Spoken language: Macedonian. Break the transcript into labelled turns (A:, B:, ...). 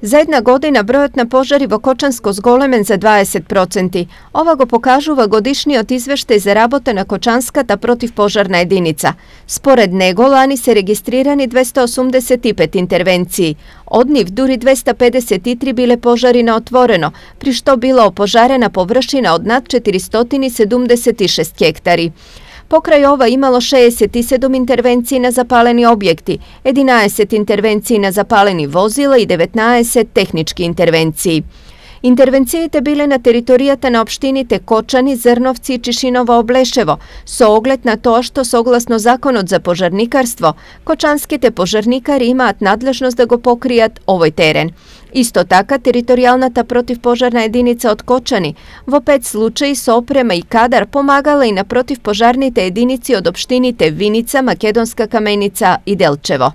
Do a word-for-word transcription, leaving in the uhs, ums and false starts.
A: За една година бројот на пожари во Кочанско зголемен за дваесет проценти. Ова го покажува годишниот извештај за работа на Кочанската противпожарна единица. Според него лани се регистрирани двесте осумдесет и пет интервенции. Од нив дури двесте педесет и три биле пожари на отворено, при што била опожарена површина од над четиристотини седумдесет и шест хектари. Покрај ова имало шеесет и седум интервенции на запалени објекти, единаесет интервенции на запалени возила и деветнаесет технички интервенции. Интервенциите биле на територијата на општините Кочани, Зрновци и Чишиново-Облешево, со оглед на тоа што согласно Законот за пожарникарство, кочанските пожарникари имаат надлежност да го покријат овој терен. Исто така, територијалната противпожарна единица од Кочани во пет случаи со опрема и кадар помагала и на противпожарните единици од општините Виница, Македонска Каменица и Делчево.